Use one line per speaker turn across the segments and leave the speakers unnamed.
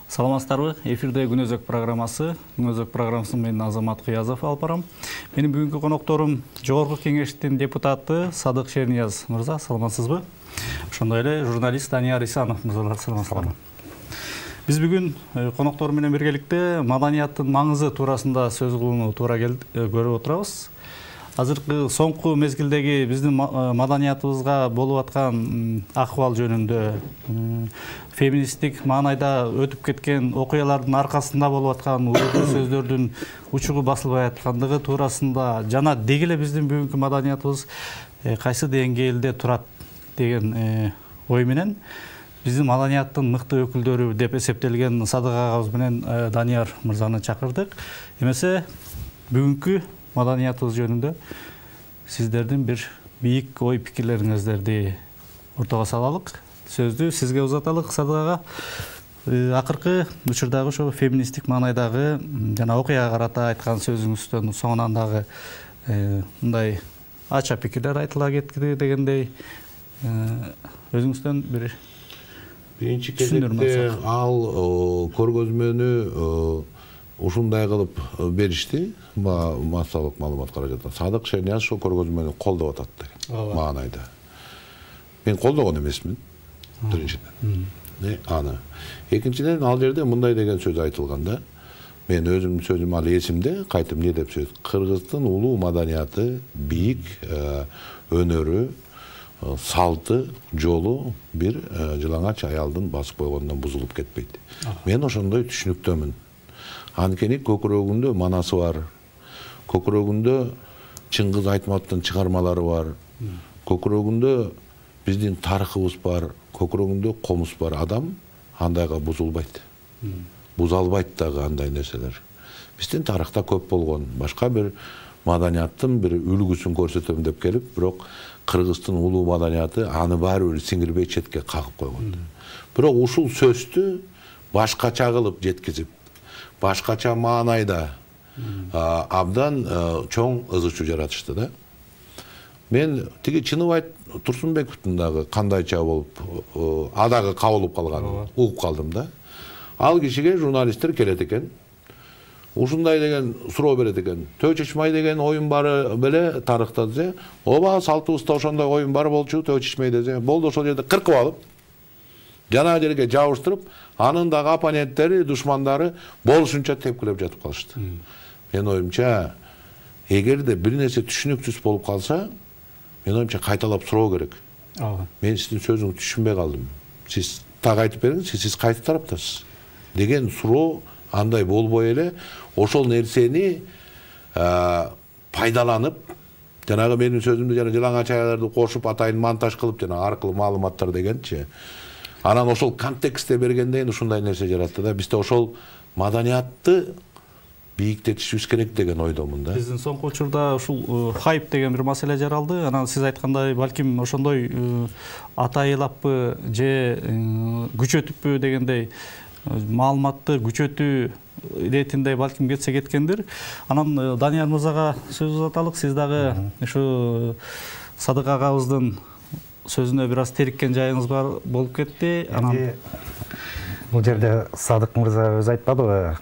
Саламатсыздарбы? Эфирде Күнөзөк программасы. Күнөзөк программасын мен Азамат Кыязов алып барам. Менин бүгүнкү конокторум Жогорку Кеңештин депутаты Садык Шернияз мырза. Саламатсызбы? Ошондой эле журналист Данияр Исанов мырзалар. Саламатсыздарбы? Биз бүгүн коноктор менен биргеликте маданияттын маңызы туурасында сөз кылууну туура көрүп отурабыз. Азыркы соңку мезгилдеги биздин маданиятыбызга болуп аткан акыбал жөнүндө, феминисттик маанайда өтүп кеткен окуялардын аркасында болуп аткан уурдуу сөздөрдүн учугу басылбай аткандыгы туурасында жана деги эле биздин бүгүнкү маданиятыбыз кайсы деңгээлде турат деген ой менен биздин маданияттын мыкты өкүлдөрү деп эсептелген Садык агабыз менен Данияр мырзаны чакырдык. Эмесе бүгүнкү маданиятыбыз жөнүндө сиздердин бир бийик ой пикирлериңиздерди ортого салалык. Сөздү сизге узаталык, Садык ага. Акыркы учурдагы ошо феминисттик маанайдагы жана окуяга карата айткан сөзүңүздөн соңунан дагы мындай ача пикирлер айтыла кетти дегендей өзүңүздөн бир
биринчи кезекте ал көргөзмөнү ушундай кылып беришти, массалык маалымат каражатынан. Садык Шернияз ошол көргөзмөнү колдоп атат деген маанайда. Мен колдогон эмесмин, биринчиден. Аны. Экинчиден, ал жерде мындай деген сөз айтылган да. Мен өзүмдүн сөзүм ал эсимде, кайтып эмне деп сөз. Кыргыздын улуу маданияты, бийик өнөрү, салты, жолу бир жылаңач аялдын басып койгондон бузулуп кетпейт. Мен ошондой түшүнүктөмүн. Анткени көкүрөгүндө манасы бар, көкүрөгүндө Чыңгыз Айтматовдун чыгармалары бар, көкүрөгүндө биздин тарыхыбыз бар, көкүрөгүндө комуз бар адам андайга бузулбайт. Буза албайт дагы андай нерселер. Биздин тарыхта көп болгон, башка бир маданияттын бир үлгүсүн көрсөтөм деп келип, бирок Кыргыздын улуу маданияты аны баары бир сиңирбей четке кагып койгон. Бирок ушул сөздү башкача кылып жеткизип, башкача маанайда абдан чоң ызы чуу жаратышты да. Мен тиги Чыныбай Турсунбековдун дагы кандайча болуп адагы кабылып калганын угуп калдым да. Ал кишиге журналисттер келет экен. Ушундай деген суроо берет экен. Төө Чечмай деген оюн бары беле тарыхта десе, ооба салтыбызда ошондой оюн бар болчу, Төө Чечмай десе, болду ошол жерде кыркып алып, жана жерге жабыштырып, анын дагы оппоненттери, душмандары болушунча тепкилеп жатып калышты. Мен оюмча, эгерде бир нерсе түшүнүксүз болуп калса, мен оюмча кайталап суроо керек. Мен сиздин сөзүңүздү түшүнбөй калдым. Сиз так айтып бериңиз, сиз кайсы тараптасыз? Деген суроо андай болбой эле, ошол нерсени пайдаланып, жанагы менин сөзүмдү жана жылаңач аяларды кошуп атайын монтаж кылып, жана аркылуу маалыматтар дегенчи. Анан ошол контекстте бергенден ушундай нерсе жаратты да. Бизде ошол маданиятты бийиктетишибиз керек деген ойдомун да.
Биздин соңку учурда ушул хайп деген бир маселе жаралды. Анан сиз айткандай, балким ошондой атайылаппы же күчөтүппү дегендей маалыматты күчөтүү иретинде балким кетсе кеткендир. Анан Данияр мырзага сөз узаталык. Сиз дагы ушу Садык агабыздын сөзүнө бир аз териккен жайыңыз бар болуп кетти.
Анан бул жерде Садык мырза өзү айтпадыбы?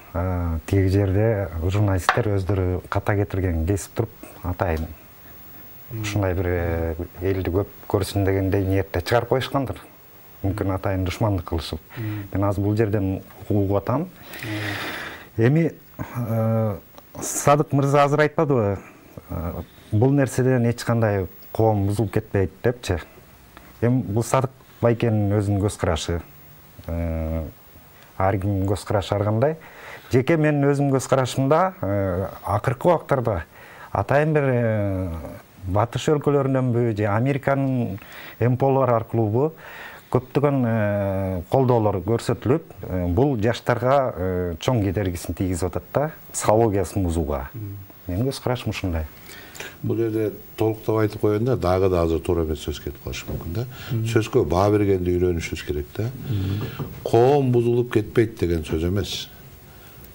Тиги жерде журналисттер өздөрү ката кетирген кесип туруп, атайын ушундай бир элди көп көрсүн дегендей ниетте чыгарып коюшкандыр. Мүмкүн атайын душмандык кылышып. Мен азыр бул жерден угуп атам. Эми Садык мырза азыр айтпадыбы? Бул нерседен эч кандай коом бузулуп кетпейт депчи. Эми бул Садык байкенин өзүнүн көз карашы. Ар кимдин көз карашы ар кандай. Жеке менин өзүмдүн көз карашымда акыркы убактарда атайын бир батыш өлкөлөрүнөнбү же Американын МПОлор аркылуубу көптөгөн колдоолор көрсөтүлүп, бул жаштарга чоң кедергисин тийгизип атат да, психологиясын бузууга. Менин көз карашым ушундай.
Бул жерде толуктап айтып коёнда дагы да азыр туура эмес сөз кетип калышы мүмкүн да. Сөзгө баа бергенди үйрөнүшүбүз керек да. Коом бузулуп кетпейт деген сөз эмес.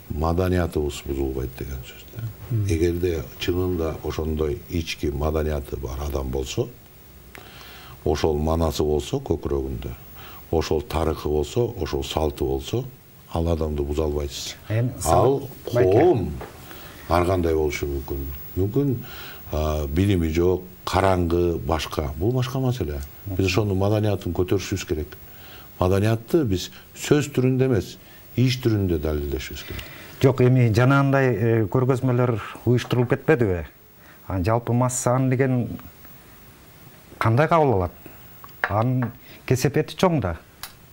Маданиятыбыз бузулбайт деген сөз да. Эгерде чынында ошондой ички маданияты бар адам болсо, ошол манасы болсо көкүрөгүндө, ошол тарыхы болсо, ошол салты болсо, ал адамды буза албайсыз. Ал коом ар кандай болушу мүмкүн. Мүмкүн билими жок, караңгы, башка. Бул башка маселе. Биз ошонун маданиятын көтөрүшүбүз керек. Маданиятты биз сөз түрүндө эмес, иш түрүндө далилдешибиз керек.
Жок, эми жанагындай көргөзмөлөр уюштурулуп кетпедиби? Жалпы массаны деген кандай кабыл алат? Анын кесепети чоң да.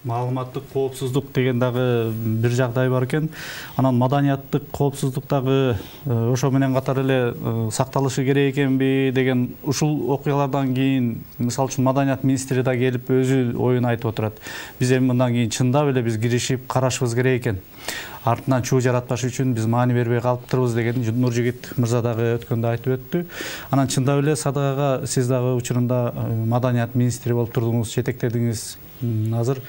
Маалыматтык коопсуздук деген дагы бир жагдай бар экен. Анан маданияттык коопсуздук дагы ошо менен катар эле сакталышы керек экенби деген ушул окуялардан кийин, мисалы үчүн маданият министри да келип өзү оюн айтып отурат. Биз эми мындан кийин чындап эле биз киришип карашыбыз керек экен. Артынан чуу жаратпаш үчүн биз маани бербей калыптырбыз деген Нуржигит мырза дагы өткөндө айтып өттү. Анан чындап эле Садыгага сиз дагы учурунда маданият министри болуп турдуңуз, жетектедиңиз. Азыр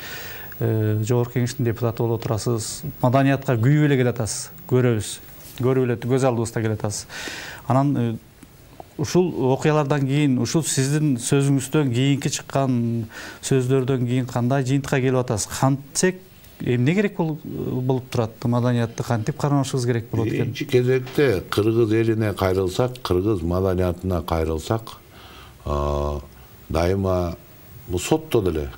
жогорку кеңештин депутаты болуп отурасыз. Маданиятка күйүп эле келатасыз. Көрүп эле көз алдыбызда келатасыз. Анан ушул окуялардан кийин, ушул сиздин сөзүңүздөн кийинки чыккан сөздөрдөн кийин кандай жыйынтыкка келип атасыз? Кантсек эмне керек болуп турат? Маданиятты кантип кармашыбыз керек болот экен?
Биринчи кезекте кыргыз элине кайрылсак, кыргыз маданиятына кайрылсак, дайыма сотто деле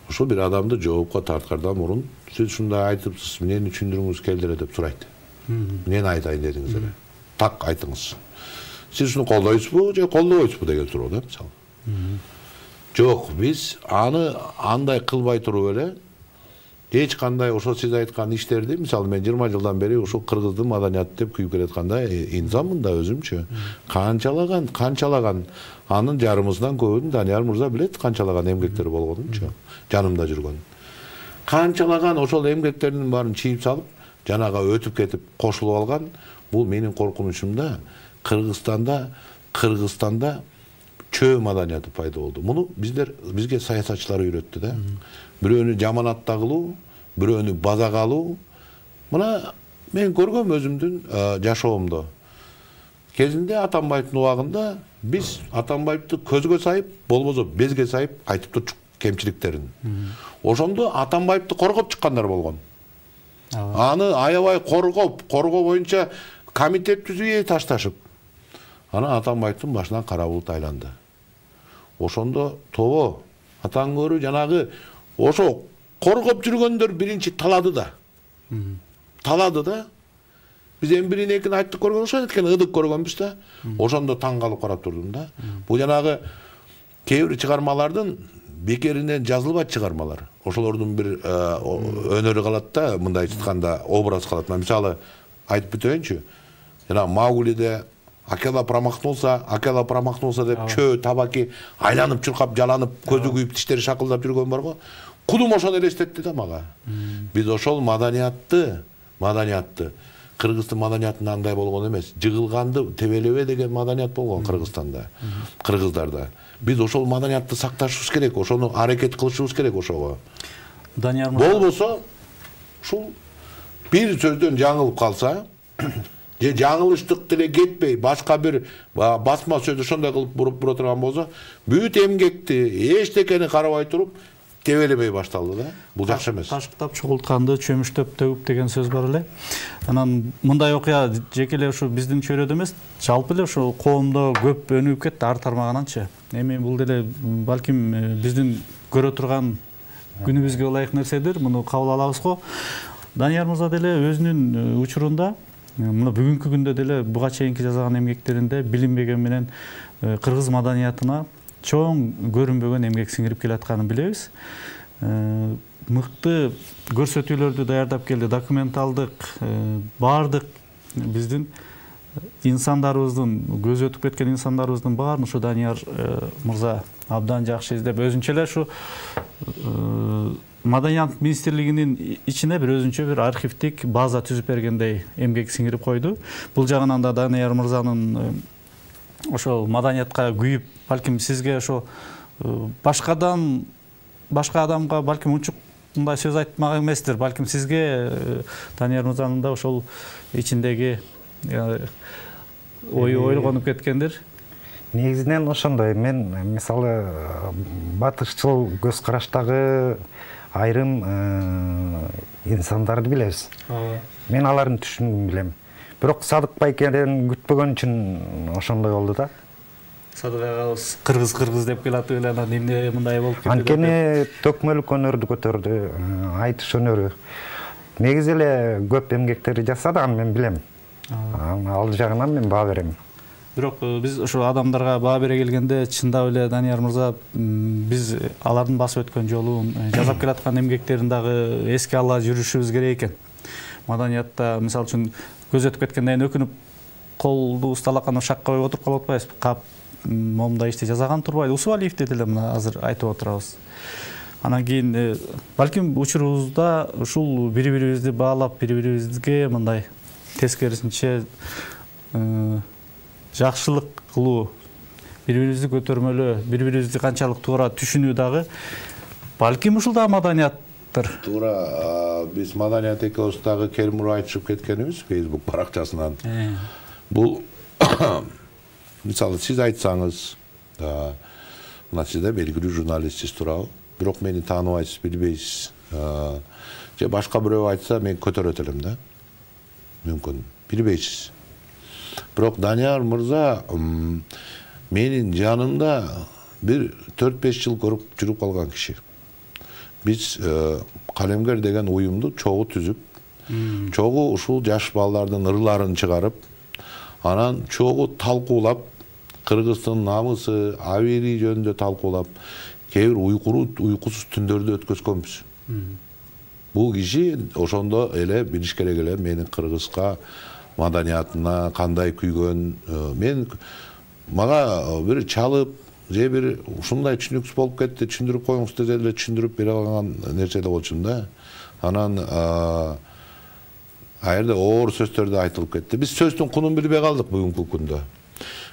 ошо бир адамды жоопко тарткандан мурун сиз ушундай айтыпсыз, эмнени түшүндүрүңүз келди эле деп сурайт. Эмнени айтайын дедиңиз эле? Так айтыңыз. Сиз ушуну колдойсузбу же колдобойсузбу деген суроо да, мисалы. Жок, биз аны андай кылбай туруп эле эч кандай ошо сиз айткан иштерди, мисалы мен 20 жылдан бери ушул кыргыздын маданияты деп күйүп келатканда инсанмын да өзүмчү. Канчалаган анын жарымысынан көбүн Данияр мырза билет, канчалаган эмгектери болгонунчу, жанымда жүргөн. Канчалаган ошол эмгектердин баарын чийип салып, жанага өтүп кетип кошулуп алган. Бул менин коркунучумда Кыргызстанда чөө маданияты пайда болду. Муну бизге саясатчылар үйрөттү да. Бирөөнү жаманатта кылуу, бирөөнү базага алуу. Мына мен көргөм өзүмдүн жашоомдо. Кезинде Атамбаевдин убагында биз Атамбаевди көзгө сайып, болбосо безге сайып айтып турчук кемчиликтерин. Ошондо Атамбаевди коргоп чыккандар болгон. Аны аябай коргоо боюнча комитет түзүп ташташып. Ана Атамбаевдин башынан кара булут айланды. Ошондо тобо атаң көрү жанагы ошо коргоп жүргөндөр биринчи талады да. Биз эми бирин экин айттык көргөн ошо эткен ыдык көргөнбүз да. Ошондо таң калып карап турдум да. Бул жанагы кээ бир чыгармалардын бекеринен жазылбайт чыгармалар. Ошолордун бир өнөрү калат да, мындай айтканда образ калат. Мисалы айтып бүтөйүнчү. Жана Мауглиде Акела промахнулся деп чөө табаки айланып чуркап, жаланып, көзү күйүп, тиштери шакылдап жүргөн барго. Кудум ошону элестетти да мага. Биз ошол маданиятты Кыргыздын маданиятында андай болгон эмес. Жыгылганды тебелебе деген маданият болгон Кыргызстанда, кыргыздарда. Биз ошол маданиятты сакташыбыз керек, ошону аракет кылышыбыз керек ошого.
Данияр
болбосо ушул бир сөздөн жаңылып калса, же жаңылыштык деле кетпей, башка бир басма сөз ошондой кылып бура турган болсо, бүт эмгекти эчтекени карабай туруп тебелебей башталды да. Бул жакшы эмес.
Ташыктап чогултканды чөмүштөп төгүп деген сөз бар эле. Анан мындай окуя жеке эле ушу биздин чөйрөдө эмес, жалпы эле ушу коомдо көп өнүгүп кетти ар тармагынанчы. Эми бул деле балким биздин көрө турган күнүбүзгө ылайык нерседир. Муну кабыл алабыз го. Данияр мырза деле өзүнүн учурунда мына бүгүнкү күндө деле буга чейинки жазган эмгектеринде билинбеген менен кыргыз маданиятына чоң көрүнбөгөн эмгек сиңирип келатканын билебиз. Мыкты көрсөтүүлөрдү даярдап келди, документалдык, баардык биздин инсандарыбыздын, көзү өтүп кеткен инсандарыбыздын баарын ушу Данияр мырза абдан жакшы издеп, өзүнчө эле ушу Маданият министрлигинин ичине бир өзүнчө бир архивдик база түзүп бергендей эмгек сиңирип койду. Бул жагынан да Данияр мырзанын ошол маданиятка күйүп, балким сизге ошо башка адамга балким унчук мындай сөз айтмак эместир. Балким сизге Данияр мырзанын да ошол ичиндеги ою ойлгонуп кеткендир.
Негизинен ошондой. Мен мисалы батышчыл көз караштагы айрым инсандарды билебиз. Мен алардын түшүнүгүн билем. Бирок Садык байкеден күтпөгөн үчүн ошондой болду да.
Садык агабыз кыргыз деп келатып эле анан эмне мындай болуп кетти?
Анткени төкмөлүк өнөрдү көтөрдү, айтыш өнөрү. Негизи эле көп эмгектери жасады, аны мен билем. Ал жагынан мен баа берем.
Бирок биз ошо адамдарга баа бере келгенде чындап эле Данияр мырза биз алардын басып өткөн жолун, жасап келаткан эмгектерин дагы эске ала жүрүшүбүз керек экен. Маданиятта мисалы үчүн көз өтүп кеткенден кийин өкүнүп колду усталаканы шакка коюп отуруп калып атпайбызбы? Кап момундай ишти жасаган турбайбы? Усубалиевди деле мына азыр айтып отурабыз. Анан кийин балким учурубузда ушул бири-бирибизди баалап, бири-бирибизге мындай тескерисинче жакшылык кылуу, бири-бирибизди көтөрмөлөө, бири-бирибизди канчалык туура түшүнүү дагы балким ушул да маданияттыр.
Туура, биз маданият экөөбүз дагы келмур айтышып кеткенибиз Facebook баракчасынан. Бул мисалы сиз айтсаңыз, мына сиз да белгилүү журналистсиз туурабы, бирок мени тааныбайсыз, билбейсиз. Же башка бирөө айтса мен көтөрөт элем да. Мүмкүн, билбейсиз. Бирок Данияр мырза менин жанымда бир 4-5 жыл көрүп жүрүп калган киши. Биз Калемгер деген уюмду чогуу түзүп, чогуу ушул жаш балдардын ырларын чыгарып, анан чогуу талкуулап, Кыргыздын намысы, абийири жөнүндө талкуулап, кээ бир уйкусуз түндөрдү өткөзгөнбүз. Бул киши ошондо эле билиш керек эле менин кыргызга маданиятына кандай күйгөн. Мен мага бир чалып, же бир ушундай түшүнүксүз болуп кетти, түшүндүрүп коюңуз десе эле түшүндүрүп бере алган нерсе эле болчумун да. Анан аерде оор сөздөрдү айтылып кетти. Биз сөздүн кунун билбей калдык бүгүнкү күндө.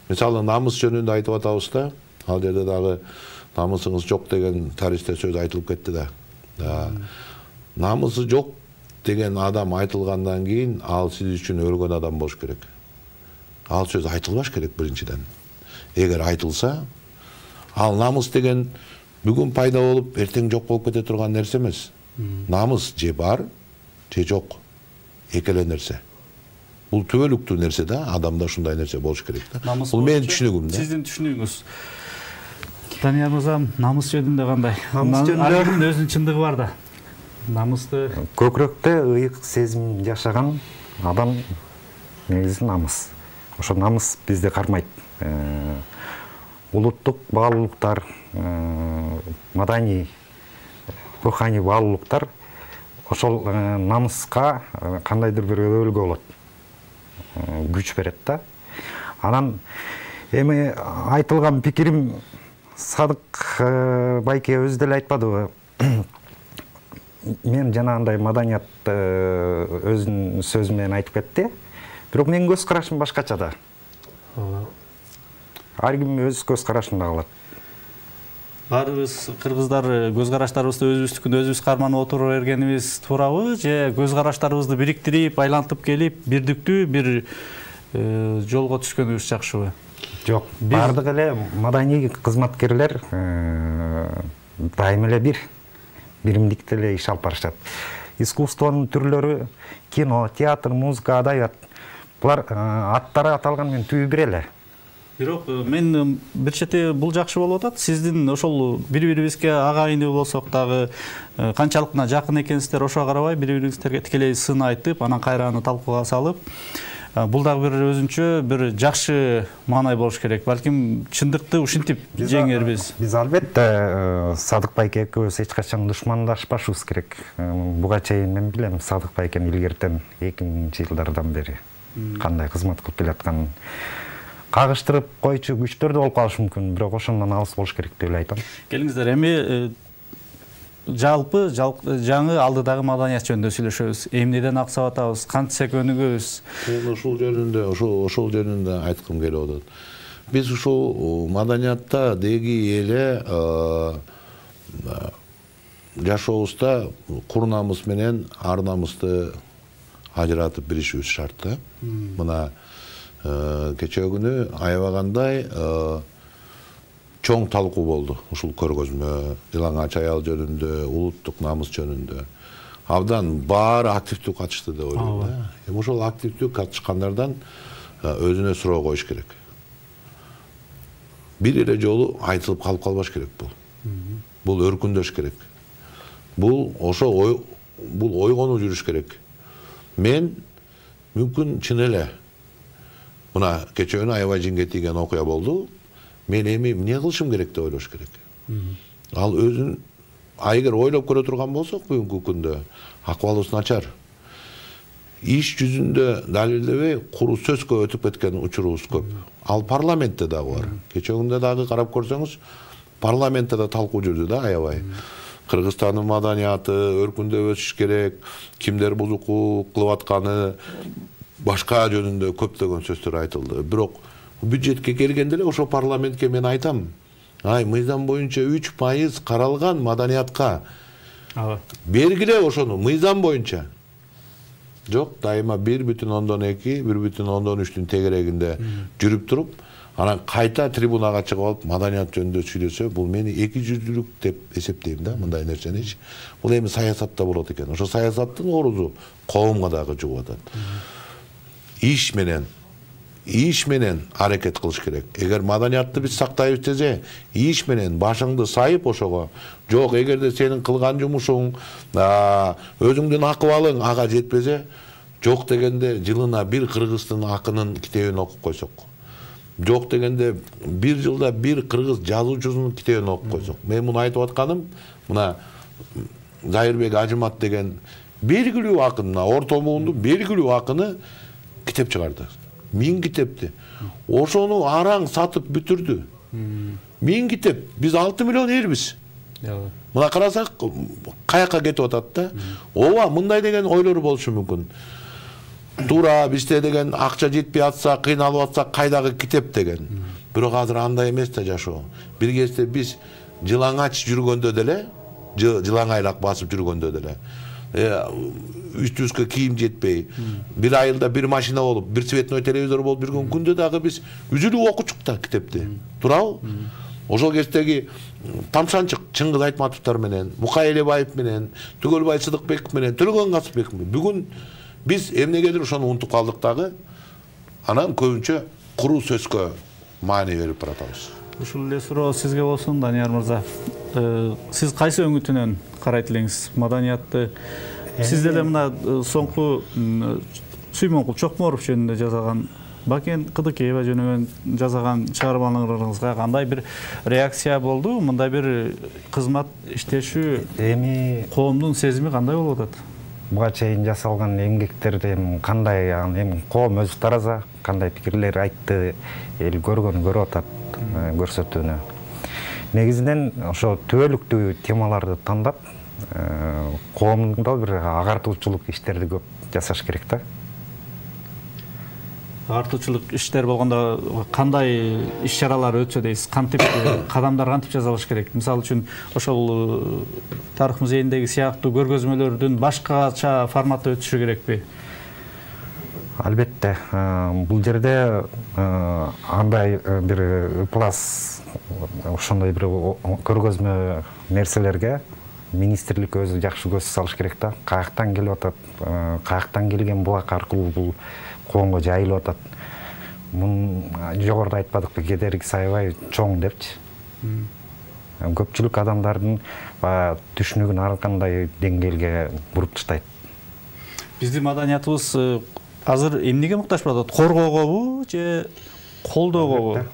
Мисалы намыс жөнүндө айтып атабыз да, ал жерде дагы намысыңыз жок деген тарихте сөз айтылып кетти да. Намысы жок деген адам айтылгандан кийин ал сиз үчүн өлгөн адам болуш керек. Ал сөз айтылбаш керек биринчиден. Эгер айтылса, ал намыс деген бүгүн пайда болуп, эртең жок болуп кете турган нерсе эмес. Намыс же бар, же жок. Эки эле нерсе. Бул түбөлүктүү нерсе да, адамда ушундай нерсе болуш керек да. Бул менин түшүнүгүм да.
Сиздин түшүнүгүңүз. Данияр мырза, намыс жөнүндө кандай? Намыс жөнүндө өзүнүн чындыгы бар да. Намысты
көкүрөктө ыйык сезим жашаган адам негизи намыс. Ошо намыс бизди кармайт. Улуттук баалуулуктар, маданий, руханий баалуулуктар ошол намыска кандайдыр бир өбөлгө болот. Күч берет да. Анан эми айтылган пикирим Садык байке өзү деле айтпадыбы? Мен жанагындай маданият өзүнүн сөзү менен айтып кетти. Бирок менин көз карашым башкача да. Ар ким өз көз карашында калат.
Баарыбыз кыргыздар көз караштарыбызды өзүбүздүкүн өзүбүз карманып отура бергенибиз туурабы, же көз караштарыбызды бириктирип, айлантып келип, бирдиктүү бир жолго түшкөнүбүз жакшыбы?
Жок, бардык эле маданий кызматкерлер дайым эле биримдикте эле иш алып барышат. Искусствонун түрлөрү кино, театр, музыка, адабият. Булар аттары аталган менен түбү бир эле.
Бирок мен бир чети бул жакшы болуп атат. Сиздин ошол бири-бирибизге агайыны болсок дагы канчалык мына жакын экенсиздер ошого карабай бири-бирибизге тикелей сын айтып, анан кайра аны талкууга салып, бул дагы бир өзүнчө бир жакшы маанай болуш керек. Балким чындыкты ушинтип жеңербиз.
Биз албетте Садык байке экөөбүз эч качан душмандашпашыбыз керек. Буга чейин мен билем Садык байкени илгертен 2000-жылдардан бери кандай кызмат кылып келатканын. Кагыштырып койчу күчтөр да болуп калышы мүмкүн, бирок ошондон алыс болуш керек деп айтам.
Келиңиздер, эми жалпы жаңы алдыдагы маданият жөнүндө сүйлөшөбүз. Эмнеден аксап атабыз, кантсе көнүгөбүз.
Мен ошол жөнүндө айткым келип атат. Биз ушул маданиятта деги эле жашообузда кур намыс менен ар намысты ажыратып билишибиз шарт да. Мына кечээ күнү аябагандай чоң талкуу болду ушул көргөзмө, Жылаңач аял жөнүндө, улуттук намыс жөнүндө. Абдан баары активдүү катышты деп ойлойм. Ошол активдүү катышкандардан өзүнө суроо коюш керек. Бир эле жолу айтылып калып калбаш керек бул. Бул өркүндөш керек. Бул ойгонуу жүрүш керек. Мен мүмкүн чын эле мына кечээ күнү аябай жинге тийген окуя болду. Мен эми эмне кылышым керек деп ойлош керек. Ал өзүн эгер ойлоп көрө турган болсок бүгүнкү күндө акыбалыбыз начар. Иш жүзүндө далилдебей куру сөзгө өтүп кеткен учурубуз көп. Ал парламентте дагы бар. Кечээ күндө дагы карап көрсөңүз, парламентте да талкуу жүрдү да аябай. Кыргызстандын маданияты өркүндөп өсүш керек, кимдер бузукулук кылып атканы, башка жөнүндө көптөгөн сөздөр айтылды. Бирок бюджетке келгенде эле ошо парламентке мен айтам, мыйзам боюнча 3% каралган маданиятка. Бергиле ошону мыйзам боюнча. Жок, дайыма 1,2, 1,3 тегерегинде жүрүп туруп, анан кайта трибунага чыгып алып маданият жөнүндө сүйлөсө, бул мени эки жүздүүлүк деп эсептейм да, мындай нерсени. Бул эми саясатта болот экен. Ошо саясаттын орузу коомго дагы жугуп атат. Иш менен аракет кылыш керек. Эгер маданиятты биз сактайбыз десе, иш менен башыңды сайып ошого. Жок, эгерде сенин кылган жумушуң, өзүңдүн акыбалың ага жетпесе, жок дегенде жылына бир кыргыздын акынын китебин окуп койсок. Жок дегенде бир жылда бир кыргыз жазуучусунун китебин окуп койсок. Мен муну айтып атканым, мына Зайырбек Ажымат деген белгилүү акын, орто муунду белгилүү акыны китеп чыгарды. 1000 китепти. Ошону араң сатып бүтүрдү. 1000 китеп. Биз 6 миллион элбиз. Мына карасак, каяка кетип атат да. Ооба, мындай деген ойлору болушу мүмкүн. Туура бизде деген акча жетпей атса, кыйналып атса, кайдагы китеп деген. Бирок азыр андай эмес да жашоо. Бир кезде биз Жылаңач жүргөндө деле, жылаңайлак басып жүргөндө деле, үстүбүзгө кийим жетпей, бир айылда бир машина болуп, бир цветной телевизор болуп жүргөн күндө дагы биз үзүлүп окучук да китепти. Туурабы? Ошол кездеги Тамшанчык Чыңгыз Айтматовдор менен, Мукай Элебаев менен, Түгөлбай Сыдыкбеков менен, Төлөгөн Касымбеков менен бүгүн биз эмнегедир ошону унутуп калдык дагы. Анан көбүнчө куру сөзгө маани берип баратабыз.
Ушул эле суроо сизге болсун, Данияр мырза. Сиз кайсы өңүтүнөн карайт элеңиз маданиятты? Сиз деле мына соңку Сүймөнкул Чокморов жөнүндө жазган, Бакен Кыдыкеева жөнүндө жазган чыгармаларыңызга кандай бир реакция болду? Мындай бир кызмат иштешүү
эми
коомдун сезими кандай болуп атат?
Буга чейин жасалган эмгектерди кандай, эми коом өзү тараза, кандай пикирлер айтты, эл көргөрүп атат, көрсөтүүнү. Негизинен ошо түбөлүктүү темаларды тандап, коомдо бир агартуучулук иштерди көп жасаш керек да.
Агартуучулук иштер болгондо кандай иш-чаралар өтсө дейсиз? Кантип кадамдар кантип жасалыш керек? Мисалы үчүн ошол тарых музейиндеги сыяктуу көргөзмөлөрдүн башкача форматта өтүшү керекпи?
Албетте, бул жерде андай бир плас ошондой бир көргөзмө нерселерге министрлик өзү жакшы көз салыш керек да. Каяктан келип атат, каяктан келген булак аркылуу бул коомго жайылып атат. Мун жогоруда айтпадыкпы, кедерги сайбай чоң депчи. Көпчүлүк адамдардын түшүнүгүн ар кандай деңгээлге буруп таштайт.
Биздин маданиятыбыз азыр эмнеге муктаж болуп атат? Коргоогобу же колдоогобу?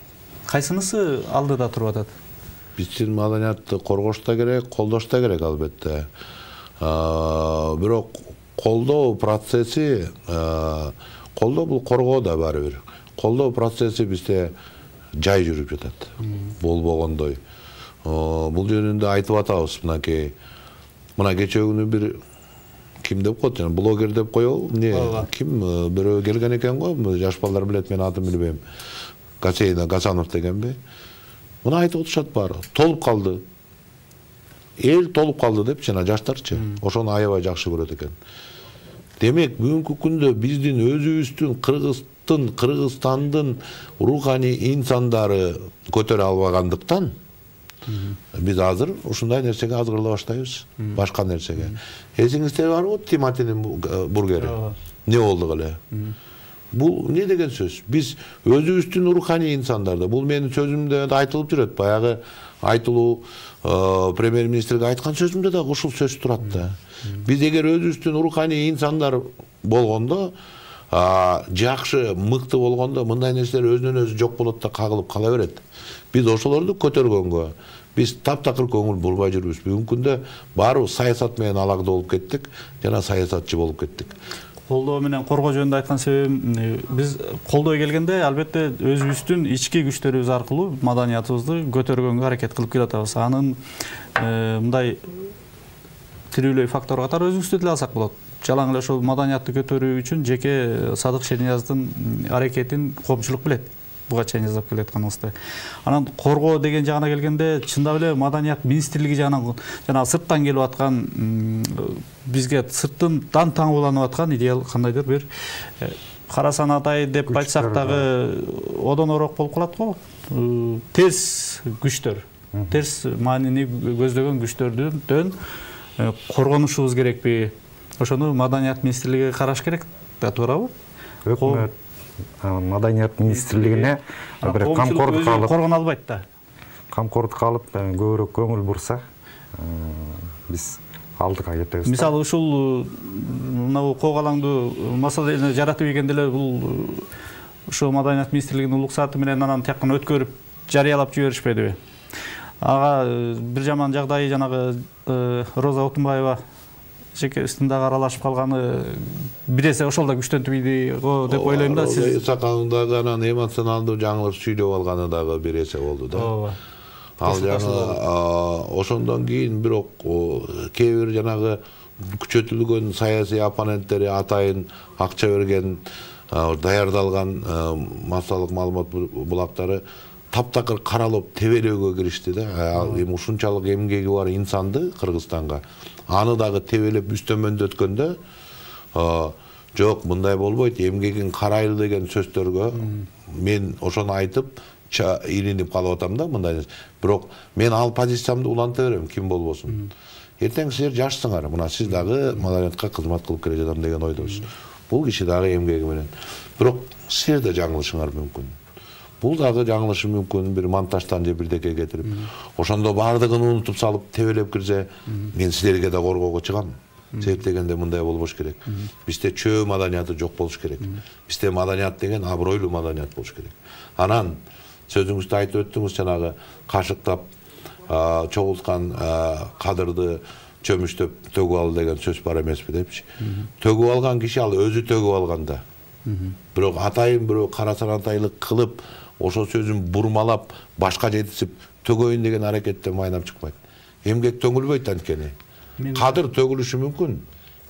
Кайсынысы алдыда туруп атат?
Биздин маданиятты коргош да керек, колдош да керек албетте. Бирок колдоо процесси, колдоо бул коргоо да баары бир. Колдоо процесси бизде жай жүрүп жатат. Болбогондой. Бул жөнүндө айтып атабыз мынакей. Мына кечээ күнү бир ким деп коет, блогер деп коебу? Ким бирөө келген экен го, жаш балдар билет, мен атын билбейм. Гасанов дегенби? Муну айтып отушат баары. Толуп калды. Эл толуп калды деп, жана жаштарчы. Ошону аябай жакшы көрөт экен. Демек, бүгүнкү күндө биздин өзүбүздүн Кыргызстандын руханий инсандары көтөрө албагандыктан, Биз азыр ушундай нерсеге азгырыла баштайбыз, башка нерсеге. Эсиңизде барбы Тиматинин бургери? Не болду эле? Бул не деген сөз? Биз өзүбүздүн руханий инсандарды, бул менин сөзүмдө айтылып жүрөт, баягы айтылуу премьер-министрге айткан сөзүмдө да ушул сөз турат да. Биз эгер өзүбүздүн руханий инсандар болгондо, жакшы, мыкты болгондо мындай нерселер өзүнөн өзү жок болот да кагылып кала берет. Биз ошолорду көтөргөнгө, биз таптакыр көңүл бурбай жүрүбүз. Бүгүнкү күндө баары саясат менен алакта болуп кеттик жана саясатчы болуп кеттик.
Колдоо менен коргоо жөнүндө айткан себебим, биз колдой келгенде албетте өзүбүздүн ички күчтөрүбүз аркылуу маданиятыбызды көтөргөнгө аракет кылып келатабыз. Анын мындай тирүүлөй фактор катары өзүбүздү деле алсак болот. Жалаң эле ошол маданиятты көтөрүү үчүн жеке Садык Шернияздын аракетин коомчулук билет. Буга чейин жасап келатканыбызды. Анан коргоо деген жагына келгенде, чындап эле маданият министрлиги жана сырттан келип аткан, бизге сырттан таңууланып аткан идеал кандайдыр бир карасан атай деп айтсак дагы одонороок болуп калат го. Терс күчтөр, терс маанини көздөгөн күчтөрдөн коргонушубуз керекпи? Ошону маданият министрлиги караш керек да, туурабы?
Өкмөт маданият министрлигине бир камкордук алып,
коргоно албайт да.
Камкордук алып, көбүрөөк көңүл бурса, биз алдыга кетебиз.
Мисалы ушул мына когалаңдуу маселени жаратып ийгенде эле бул ошо маданият министрлигинин улук сааты менен анан тияктан өткөрүп жарыялап жиберишпедиби? Ага бир жаман жагдайы жанагы Роза Отунбаева жекесинде аралашып калганы бир эсе ошол да күчтөнтүп ийди го деп ойлойм да.
Сиз Исакановдагы анан эмоционалдуу жаңылыш сүйлөп алганы дагы бир эсе болду да.
Ооба.
Ал жаңы ошондон кийин бирок кээ бир жанагы күчөтүлгөн саясий оппоненттери атайын акча берген, даярдалган массалык маалымат булактары таптакыр каралып тебелөөгө киришти да. Ал эми ушунчалык эмгеги бар инсанды Кыргызстанга аны дагы тебелеп үстөмөндөткөндө, жок мындай болбойт, эмгегин карайлы деген сөздөргө мен ошону айтып илинип калып атам да, мындай. Бирок мен ал позициямды уланта берем, ким болбосун. Эртең силер жашсыңар, мына сиз дагы маданиятка кызмат кылып келе жатам деген ойдосуз. Бул киши дагы эмгеги менен. Бирок силер да жаңылышыңар мүмкүн. Бул дагы жаңылышы мүмкүн, бир монтаждан же бирдеке кетирип. Ошондо баардыгын унутуп салып, тебелеп кирсе, мен силерге да коргоого чыгам. Себеп дегенде мындай болбош керек. Бизде чөө маданияты жок болуш керек. Бизде маданият деген абройлуу маданият болуш керек. Анан сөзүңүздө айтып өттүңүз, жанагы кашыктап чогулткан кадырды чөмүштөп төгүп ал деген сөз бар эмеспи депчи. Төгүп алган киши ал өзү төгүп алган да. Бирок атайын бирөө карасан атайлык кылып, ошол сөзүн бурмалап, башка жетисип төгөйүн деген аракеттен майнап чыкпайт. Эмгек төгүлбөйт анткени. Кадыр төгүлүшү мүмкүн,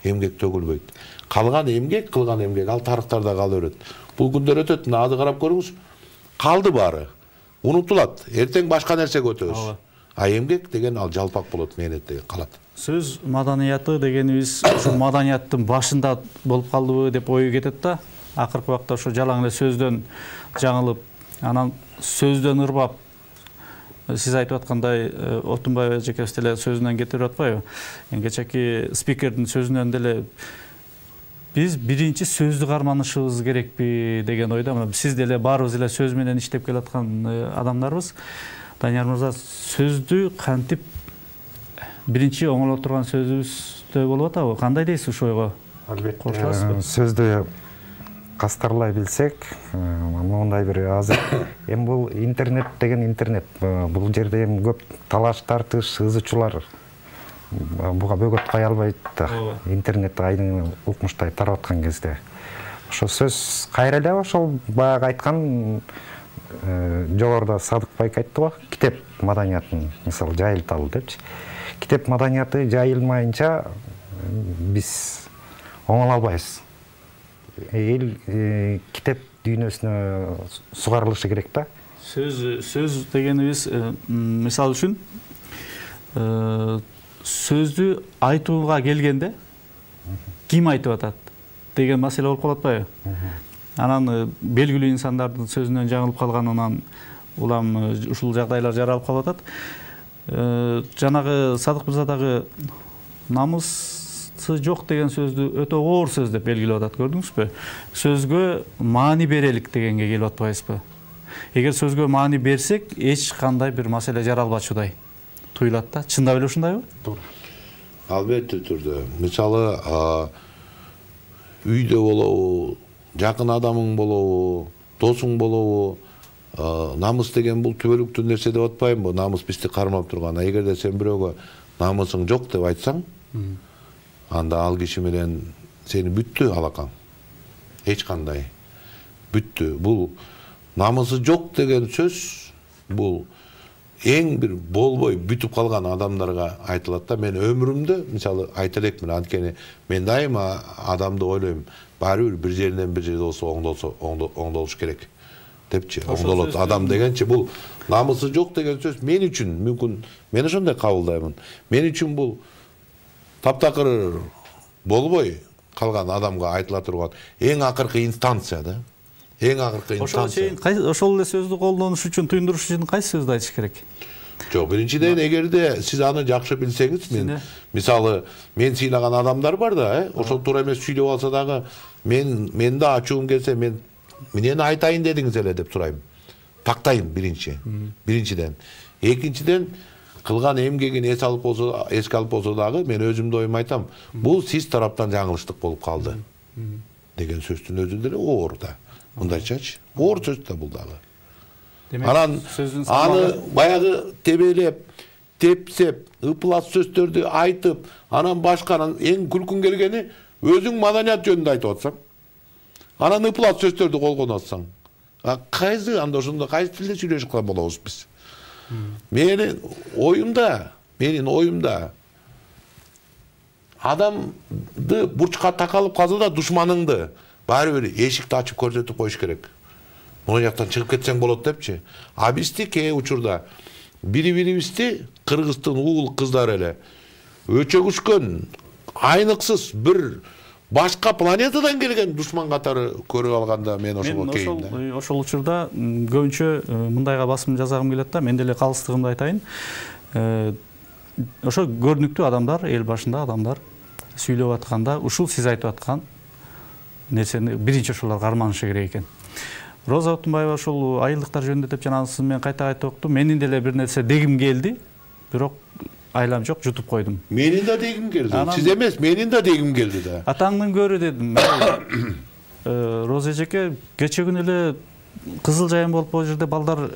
эмгек төгүлбөйт. Калган эмгек, кылган эмгек ал тарыхтарда кала берет. Бул күндөр өтөт, азыр карап көрүңүз. Калды баары. Унутулат. Эртең башка нерсеге өтөбүз. А эмгек деген ал жалпак болот, мээнет деген калат.
Сөз маданияты дегенибиз ошо маданияттын башында болуп калдыбы деп ою кетет да. Акыркы убакта ошо жалаң эле сөздөн жаңылып, анан сөздөн ырбап, сиз айтып аткандай Отунбаева эжекебиз деле сөзүнөн кетирип атпайбы? Кечээки спикердин сөзүнөн деле биз биринчи сөздү карманышыбыз керекпи деген ойда. Сиз деле баарыбыз эле сөз менен иштеп келаткан адамдарбыз. Данияр мырза, сөздү кантип биринчи оңоло турган сөзүбүздө болуп атабы? Кандай дейсиз ушул ойго?
Албетте, сөздү кастарлай билсек, мондай бир азыр эми бул интернет деген интернет. Бул жерде эми көп талаш тартыш, ызычуулар буга бөгөт кая албайт да. Интернет айдың укмуштай тарап аткан кезде. Ошо сөз кайра эле ошол баягы айткан жогоруда Садык байке айтты го, китеп маданиятын мисалы жайылталы депчи. Китеп маданияты жайылмайынча биз оңоло албайбыз. Эл китеп дүйнөсүнө сугарылышы керек да.
Сөз дегенибиз мисалы үчүн сөздү айтууга келгенде ким айтып атат деген маселе болуп калат атпайбы? Анан белгилүү инсандардын сөзүнөн жаңылып калганынан улам ушул жагдайлар жаралып калып атат. жанагы Садык мырза дагы намысы жок деген сөздү өтө оор сөз деп белгилеп атат, көрдүңүзбү? Сөзгө маани берелик дегенге келип атпайбызбы? Эгер сөзгө маани берсек, эч кандай бир маселе жаралбачудай туюлат да. Чындап эле ушундайбы?
Туура.
Албетте түрдө. Мисалы, үйдө болобу, жакын адамың болобу, досуң болобу, намыс деген бул түбөлүктүү нерсе деп атпайбынбы? Намыс бизди кармап турган. Эгерде сен бирөөгө намысың жок деп айтсаң, анда ал киши менен сени бүттү алакаң. Эч кандай бүттү. Бул намысы жок деген сөз бул эң бир болбой бүтүп калган адамдарга айтылат да. Мен өмүрүмдө мисалы айта элекмин, анткени мен дайыма адамды ойлойм, баары бир жеринен бир жерде болсо оңдолуш керек депчи. Оңдолот адам дегенчи бул намысы жок деген сөз мен үчүн мүмкүн мен ошондой кабылдаймын. Мен үчүн бул таптакыр болбой калган адамга айтыла турган эң акыркы инстанция да. Эң акыркы инстанция.
Ошол эле сөздү колдонуш үчүн, туюндуруш үчүн кайсы сөздү айтыш керек?
Жок, биринчиден эгерде сиз аны жакшы билсеңиз, мен мисалы мен сыйлаган адамдар бар да, ошол туура эмес сүйлөп алса дагы мен да ачуум келсе мен эмнени айтайын дедиңиз эле деп сурайм. Тактайм биринчиден. Экинчиден кылган эмгегин эске алып болсо дагы мен өзүмдүн оюмду айтам. Бул сиз тараптан жаңылыштык болуп калды деген сөздүн өзү деле оор да. Мындайчачы, оор сөз да бул дагы. Анан аны баягы тебелеп, тепсеп, ыплас сөздөрдү айтып, анан башканын эң күлкүң келгени өзүң маданият жөнүндө айтып атсаң. Анан ыплас сөздөрдү колгонуп атсаң. Кайсы анда ошондо кайсы тилде сүйлөшүп калган болобуз биз? Менин оюмда адамды бурчка такалып калса да душманыңды баары бир эшикти ачып көрсөтүп коюш керек. Могу жактан чыгып кетсең болот депчи. А бизди кээ учурда бири-бирибизди кыргыздын уул кыздары эле өчөгүшкөн, айныксыз бир башка планетадан келген душман катары көрүп алганда мен ошого кейим да.
Ошол учурда көбүнчө мындайга басым жасагым келет да, мен деле калыстыгымды айтайын. Ошо көрүнүктүү адамдар, эл башында адамдар сүйлөп атканда ушул сиз айтып аткан нерсени биринчи ошолор карманышы керек экен. Роза Отунбаева ошол айылдыктар жөнүндө деп жанагысын мен кайта айтып октум. Менин деле бир нерсе дегим келди, бирок айлам жок, жутуп койдум.
Менин да дегим келди. Сиз эмес, менин да дегим келди да.
Атаңдын көрү дедим. Роза эжеке, кече күнү эле Кызыл Жайын болуп ал жерде балдар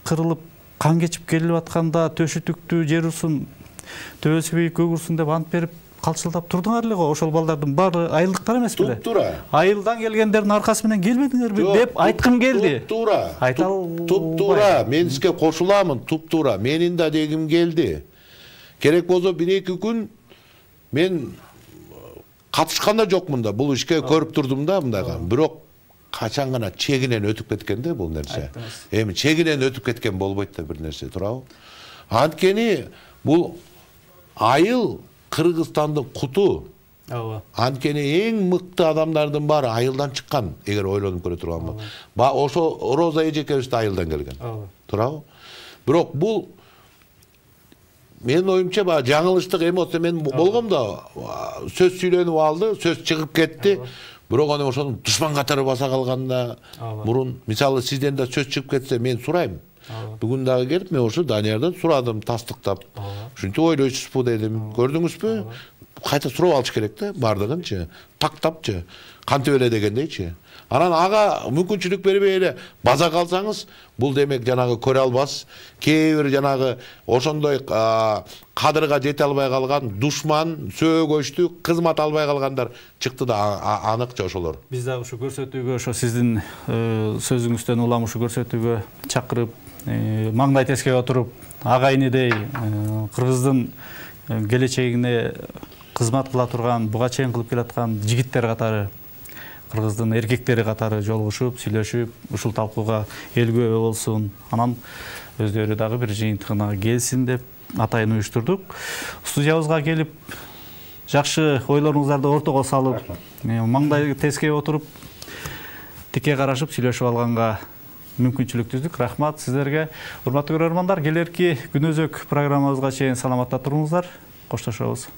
кырылып, кан кечип келип атканда төшү түктү, жер усун, төбөсү бийик көгүрсүн деп ант берип калчылдап турдуңар эле го. Ошол балдардын баары айылдыктар эмес беле?
Туп-туура.
Айылдан келгендердин аркасы менен келбедиңерби деп айткым келди.
Туп-туура. Туп-туура. Мен сизге кошуламын, туп-туура. Менин да дегим келди. Керек болсо 1-2 күн мен катышкан да жокмун да. Бул ишке көрүп турдум да мындайга. Бирок качан гана чегинен өтүп кеткен да бул нерсе. Эми чегинен өтүп кеткен болбойт да бир нерсе, туурабы? Анткени бул айыл Кыргызстандын куту. Анткени эң мыкты адамдардын баары айылдан чыккан, эгер ойлонуп көрө турганбы. Ошо Роза эжекебиз да айылдан келген. Туурабы? Бирок бул менин оюмча жаңылыштык эмоция мен болгом да, сөз сүйлөнүп алды, сөз чыгып кетти. Бирок аны ошону душман катары баса калганда мурун, мисалы сизден да сөз чыгып кетсе мен сурайм. Бүгүн дагы келип мен ошо Даниярдан сурадым тастыктап. Ушинтип ойлойсузбу дедим. Көрдүңүзбү? Кайта сурап алыш керек да бардыгынчы. Тактапчы. Кантип эле дегендейчи. Анан ага мүмкүнчүлүк бербей эле база калсаңыз, бул демек жанагы көрө албас, кээ бир жанагы ошондой кадырга жете албай калган душман, сөөгөчтүү, кызмат албай калгандар чыкты да аныкча ошолор.
Биз дагы ушу көрсөтүүгө, ошо сиздин сөзүңүздөн улам ушу көрсөтүүгө чакырып, маңдай тескей отуруп, ага инидей кыргыздын келечегине кызмат кыла турган, буга чейин кылып келаткан жигиттер катары, кыргыздын эркектери катары жолугушуп, сүйлөшүп, ушул талкууга эл күбө болсун. Анан өздөрү дагы бир жыйынтыгына келсин деп атайын уюштурдук. Студиябызга келип, жакшы ойлоруңуздарды ортого салып, маңдай тескей отуруп, тике карашып сүйлөшүп алганга мүмкүнчүлүк түздүк. Рахмат сиздерге. Урматтуу көрөрмандар, келерки күнөзөк программабызга чейин саламатта туруңуздар. Коштошобуз.